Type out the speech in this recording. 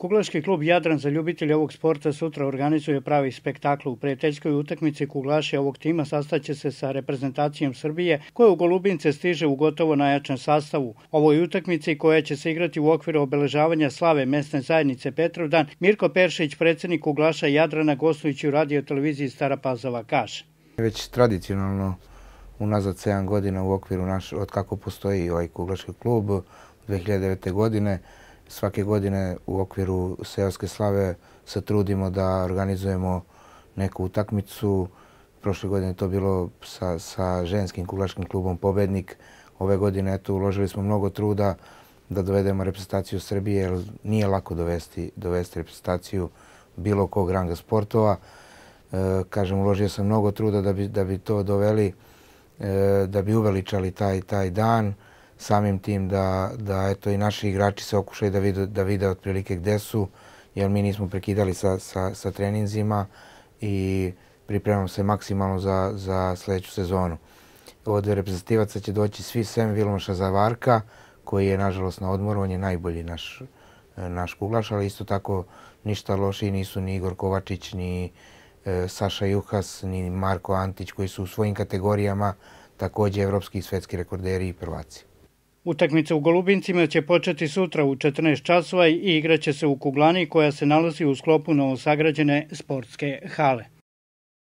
Kuglaški klub Jadran za ljubitelje ovog sporta sutra organizuje pravi spektakl. U prijateljskoj utakmici kuglaši ovog tima sastaće se sa reprezentacijom Srbije, koja u Golubince stiže u gotovo najjačem sastavu. Ovoj utakmici, koja će se igrati u okviru obeležavanja slave mesne zajednice Petrovdan, Mirko Peršić, predsjednik kuglaša Jadrana, gostujući u radio televiziji Stara Pazova, kaže: Već tradicionalno unazad 7 godina u okviru od kako postoji ovaj kuglaški klub 2009. godine, svake godine u okviru seoske slave se trudimo da organizujemo neku utakmicu. Prošle godine to bilo sa ženskim kuglaškim klubom Pobednik. Ove godine uložili smo mnogo truda da dovedemo reprezentaciju Srbije, jer nije lako dovesti reprezentaciju bilo kog ranga sportova. Kažem, uložio sam mnogo truda da bi to doveli, da bi uveličali taj dan, samim tim da i naši igrači se okušaju da vide otprilike gde su, jer mi nismo prekidali sa treninzima i pripremamo se maksimalno za sljedeću sezonu. Od reprezentativaca će doći svi sem Vilmoša Zavarka, koji je nažalost na odmoru. On je najbolji naš kuglaš, ali isto tako ništa lošiji nisu ni Igor Kovačić, ni Saša Juhas, ni Marko Antić, koji su u svojim kategorijama također evropski i svetski rekorderi i prvaci. Utakmica u Golubincima će početi sutra u 14 časova i igraće se u kuglani koja se nalazi u sklopu novosagrađene sportske hale.